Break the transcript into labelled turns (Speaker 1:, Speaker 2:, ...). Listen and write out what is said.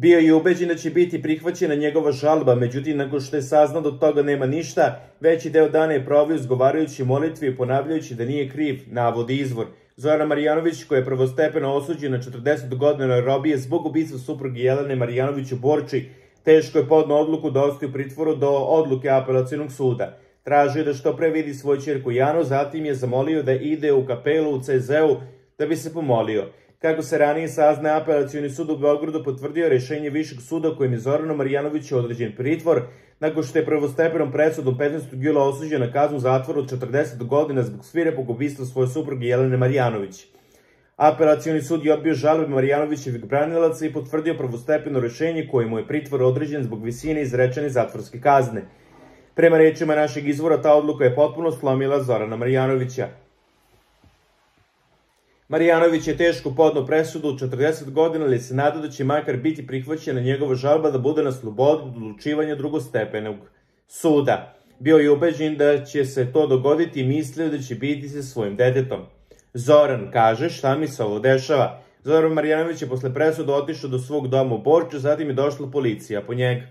Speaker 1: Bio je ubeđen da će biti prihvaćena njegova žalba, međutim, nakon što je saznao da od toga nema ništa, veći deo dana je proveo izgovarajući molitve i ponavljajući da nije kriv, navodi izvor. Zoran Marjanović, koji je prvostepeno osuđen na 40 godina robije zbog ubistva supruge Jelene Marjanović u Borči, teško je podneo odluku da ostaje u pritvoru do odluke Apelacionog suda. Tražio je da što pre vidi svoju ćerku Janu, zatim je zamolio da ide u kapelu u CZ-u da bi se pomolio. Kako se ranije sazna, Apelacioni sud u Beogradu potvrdio rešenje Višeg suda kojim je Zoranu Marjanoviću određen pritvor, nakon što je prvostepenom presudom 15. jula osuđen na kaznu zatvora od 40 godina zbog svirepog ubistva svoje supruge Jelene Marjanović. Apelacioni sud je odbio žalbe Marjanovićevih branilaca i potvrdio prvostepeno rešenje kojim mu je pritvor određen zbog visine izrečene zatvorske kazne. Prema rečima našeg izvora, ta odluka je potpuno slomila Zorana Marjanovića. Marjanović je teško podneo presudu od 40 godina, ali se nada da će makar biti prihvaćena njegova žalba da bude na slobodu od odlučivanja drugostepenog suda. Bio je ubeđen da će se to dogoditi i mislio da će biti sa svojim detetom. Zoran kaže: šta mi se ovo dešava? Zoran Marjanović je posle presude otišao do svog doma u Borču, zatim je došla policija po njega.